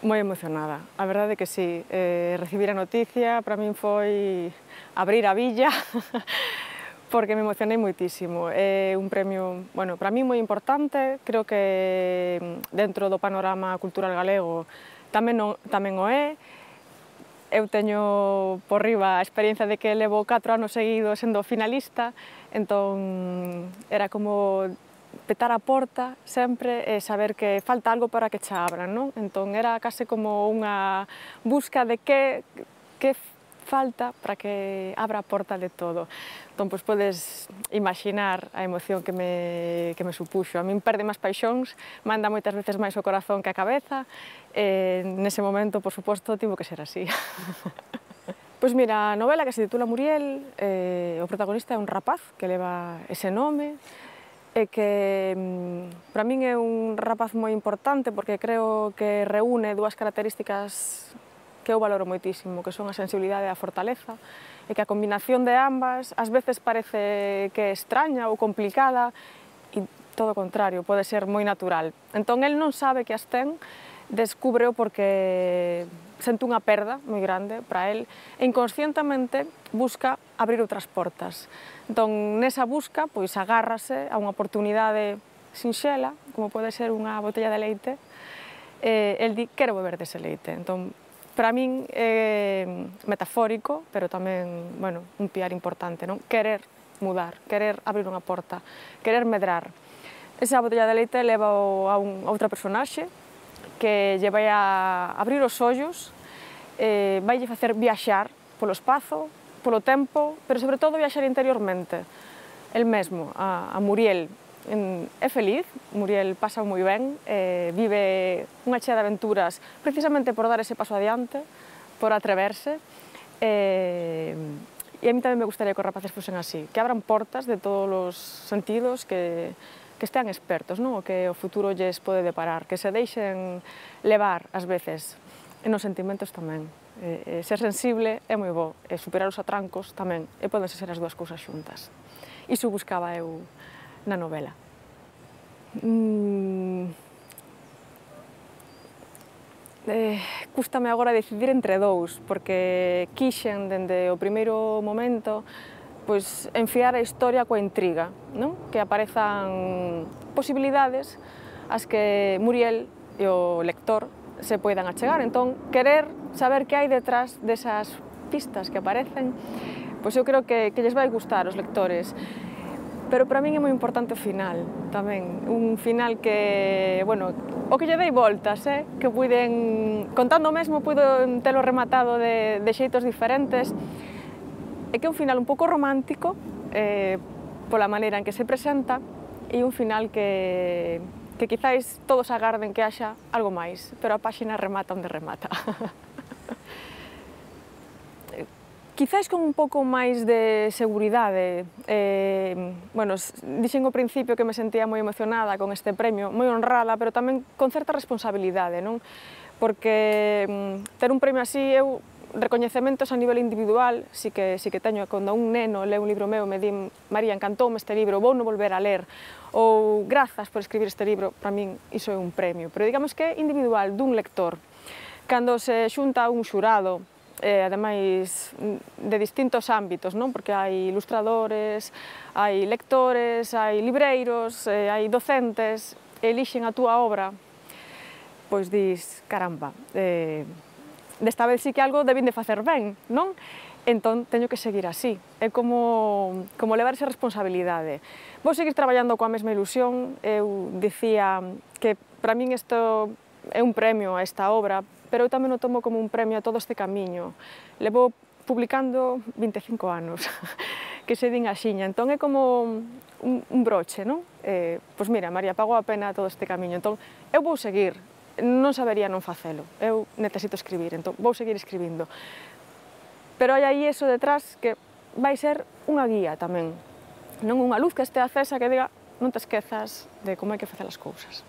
Moi emocionada, a verdade que sí, recibir a noticia para min foi abrir a billa porque me emocionei moitísimo. É un premio, bueno, para min moi importante, creo que dentro do panorama cultural galego tamén o é. Eu teño por riba a experiencia de que levo 4 anos seguidos sendo finalista, entón era como petar a porta sempre e saber que falta algo para que cha abran, non? Entón era case como unha busca de que falta para que abra a porta de todo. Entón, pois podes imaginar a emoción que me supuxo. A min perde máis paixóns, manda moitas veces máis o corazón que a cabeza, e nese momento, por suposto, tivo que ser así. Pois mira, a novela que se titula Muriel, o protagonista é un rapaz que leva ese nome, e que para min é un rapaz moi importante porque creo que reúne dúas características que eu valoro moitísimo, que son a sensibilidade e a fortaleza, e que a combinación de ambas ás veces parece que é extraña ou complicada, e todo o contrario, pode ser moi natural. Entón, el non sabe que as ten, descúbreo porque sente unha perda moi grande para el e inconscientemente busca abrir outras portas. Entón, nesa busca, pois agárrase a unha oportunidade sinxela, como pode ser unha botella de leite, e el di, quero beber dese leite. Entón, para min é metafórico, pero tamén, bueno, un piar importante, non? Querer mudar, querer abrir unha porta, querer medrar. Esa botella de leite leva a outra personaxe que lle vai a abrir os ollos, vai lle facer viaxar polo espazo, polo tempo, pero sobre todo viaxar interiormente. El mesmo, a Muriel, é feliz, Muriel pasa moi ben, vive unha chea de aventuras precisamente por dar ese paso adiante, por atreverse, e a mí tamén me gustaría que os rapaces fosen así, que abran portas de todos os sentidos, que estean expertos, non? O que o futuro lles pode deparar, que se deixen levar ás veces, e nos sentimentos tamén. Ser sensible é moi bo, e superar os atrancos tamén, e podense ser as dúas cousas xuntas. Iso buscaba eu na novela. Cústame agora decidir entre dous, porque quixen, dende o primeiro momento, pois enfiar a historia coa intriga, non? Que aparezan posibilidades as que Muriel e o lector se poidan achegar. Entón, querer saber que hai detrás desas pistas que aparecen, pois eu creo que lles vai gustar aos lectores. Pero para min é moi importante o final, tamén. Un final que, bueno, o que lle dei voltas, que puiden, contando o mesmo, puido telo rematado de xeitos diferentes, e que é un final un pouco romántico, pola maneira en que se presenta, e un final que quizáis todos agarden que haxa algo máis, pero a páxina remata onde remata. Quizáis con un pouco máis de seguridade. Bueno, dixen ao principio que me sentía moi emocionada con este premio, moi honrada, pero tamén con certa responsabilidade, non? Porque ter un premio así, eu recoñecementos a nivel individual, si que teño. Cando un neno leu un libro meu, me di, María, encantoume este libro, vou non volver a ler, ou grazas por escribir este libro, para min iso é un premio. Pero digamos que é individual, dun lector. Cando se xunta un xurado, ademais de distintos ámbitos, non? Porque hai ilustradores, hai lectores, hai libreiros, hai docentes, e elixen a túa obra, pois dis, caramba, desta vez sí que algo debín de facer ben, non? Entón, teño que seguir así. É como levar esa responsabilidade. Vou seguir traballando coa mesma ilusión. Eu dicía que para min isto é un premio a esta obra, pero eu tamén o tomo como un premio a todo este camiño. Levo publicando 25 anos, que se din axiña, entón é como un broche, non? Pois mira, María, pagou a pena todo este camiño, entón eu vou seguir, non sabería non facelo, eu necesito escribir, entón vou seguir escribindo. Pero hai aí eso detrás que vai ser unha guía tamén, non unha luz que estea acesa que diga non te esquezas de como hai que facer as cousas.